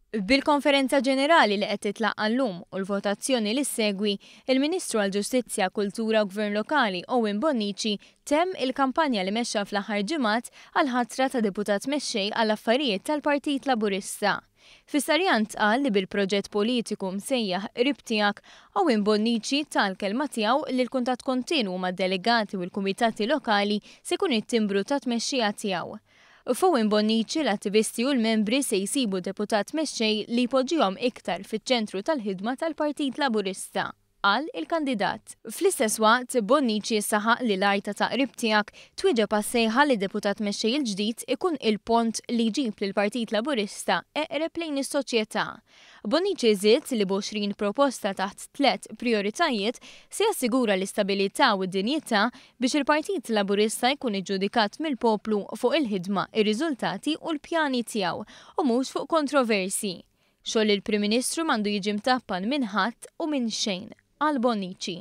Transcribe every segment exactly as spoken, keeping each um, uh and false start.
Bil-konferenza ġenerali li qed titlaqqa llum u l-votazzjoni li ssegwi, il-Ministru għall-Ġustizzja, Kultura u Gvern Lokali Owen Bonnici temm il-kampanja li mexxa fl-aħħar ġimgħat għal-ħatra ta' deputat mexxej għall-affarijiet tal-Partit Laburista. Fis-Sarjan qal li bil-proġett politiku msejjaħ Qrib Tiegħek, Owen Bonnici tal-kelma tiegħu li l-kuntatt kontinwu mad-delegati u l-kumitati lokali se jkun it-timbru ta' tmexxija tiegħu. F'Owen Bonnici l-attivisti u l-membri se jsibu deputat mexxej li jpoġġihom iktar fiċ-ċentru tal-ħidma tal-Partit Laburista, qal il-kandidat. Fl-istess waqt, Bonnici saħaq li l-għajta ta' Qrib Tiegħek twieġeb għas-sejħa li deputat mexxej il-ġdid ikun il-pont li jġib lill-Partit Laburista eqreb lejn is-soċjetà. Bonnici żied li b'għoxrin proposta taħt tliet prioritajiet se jassigura l-istabilità u d-dinjità biex il-Partit Laburista jkun iġġudikat mill-poplu fuq il-ħidma, ir-riżultati u l-pjani tiegħu u mhux fuq kontroversi. Xogħol il-Prim Ministru m'għandu jiġi mtappan minn ħadd u minn xejn, qal Bonnici.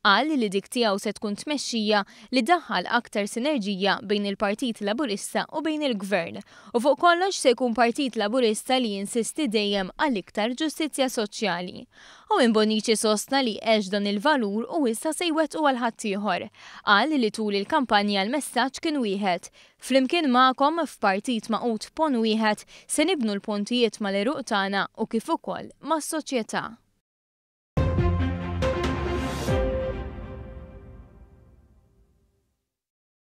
Qal li dik tiegħu se tkun tmexxija li daħħal aktar sinerġija bejn il-Partit Laburista u bejn il-Gvern. U fuq kollox se jkun Partit Laburista li jinsisti dejjem għal iktar ġustizzja soċjali. Owen Bonnici sostna li għex dan il-valur u issa se jwettqu għal ħaddieħor. Qal li tul il-kampanja l-messaġġ kien wieħed. Flimkien magħkom f'partit magħqud ponn wieħed se nibnu l-pontijiet mal-għeruq tagħna u kif ukoll mas-soċjetà.